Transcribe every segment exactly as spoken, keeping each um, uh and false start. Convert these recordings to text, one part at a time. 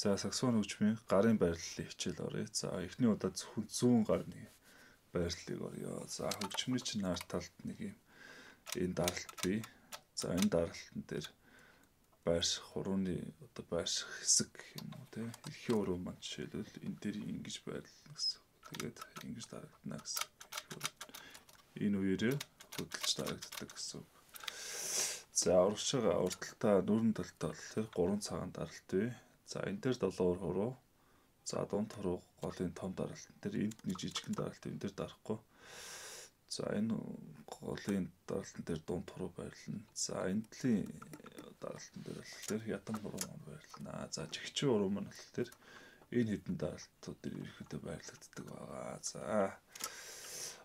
За саксофон хөгжмийн гарын байрлалын хичээл оръё. За эхний удаа зөвхөн зүүн гарны байрлалыг оръё. За хөгжмийн чинь наар талд нэг юм энэ даралт бий. За энэ даралтан дээр байрших хурууны одоо байрших хэсэг гэх юм уу те. Эрхийн хуруу маань жишээлбэл энэ дээр ингэж байрлална гэсэн. Тэгээд ингэж дарагдана гэсэн. Энэ үеэрээ хөдөлж дарагддаг гэсэн. За урагш байгаа урдталтаа нүүрэн талтай болохоор гурван цагаан даралт бий. За энэ дээр долоовор хуруу. За дунд хуруу голын том даралт. Тэр энд нэг жижигхэн даралт энэ дээр дарахгүй. За энэ голын даралтан дээр дунд хуруу байрлана. За энэлийн даралтан дээр болохоор ядам хуруу маань байрлана. За жигчүү хуруу маань болохоор энэ хэдэн даралтууд дээр ирэхдээ байрлагддаг байгаа. За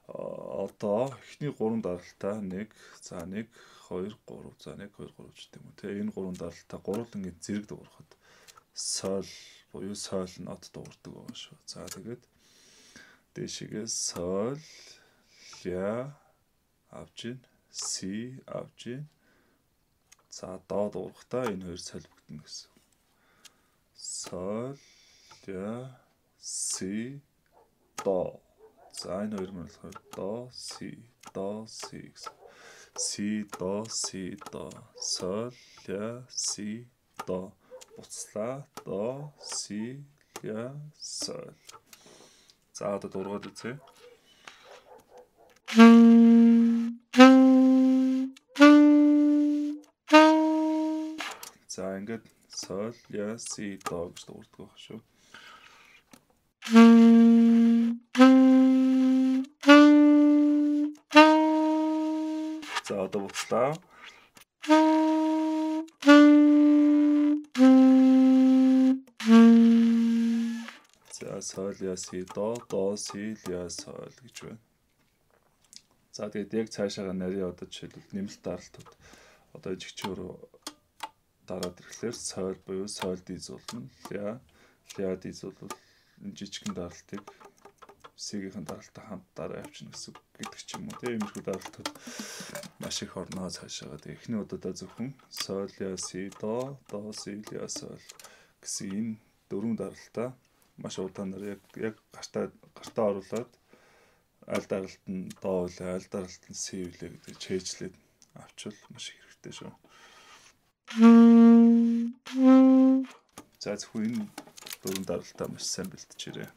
одоо эхний гурван даралтаа нэг, за нэг, хоёр, гурав, за нэг, хоёр, гурав ч гэдэм үү те. Энэ гурван даралтаа гурван ингэ зэрэг дуурахад соль буюу соль нот дуурдаг байгаа шүү. За тэгээд дээшгээ соль, ля авч ийн, си авч ийн. За доо дуурахтаа энэ хоёр солигдно гэсэн. Соль, ля, си, до. За энэ хоёр маань болохоор до, си, до, си гэсэн. Си, до, си, до. Соль, ля, си, до. Буцлаа, до, си, ля, соль. За одоо дургаад үзье. За ингээд соль, ля, си, до гэж дуурдаг байх шүү. За одоо буцлаа. За соль, ля, си, до, до, си, ля, соль гэж байна. За тэгээд яг цаашаага нарийн одоо жишээлбэл нэмэлт даралтууд одоо жигчөөрөө дараад ирэхлээр соль буюу соль дийзуулна. Ля, ля дийзуулвал энэ жижигхэн даралтыг сигийн даралтаа хамт дараа авчна гэсэн гэдэг ч юм уу. Тэгээ иймэрхүү даралтууд маш их орноо цаашаага. Тэгээ эхний удаадаа зөвхөн соль, ля, си, до, до, си, ля, соль гэсэн энэ дөрвөн даралтаа маш удаанаар яг яг гартаа гартаа оруулаад аль даралт нь до үлээ, аль даралт нь си үлээ гэдэг чэйжлээд авчвал маш их хэрэгтэй шүү. За зөвхөн энэ дөрвөн даралтаа маш сайн бэлтжээрэй.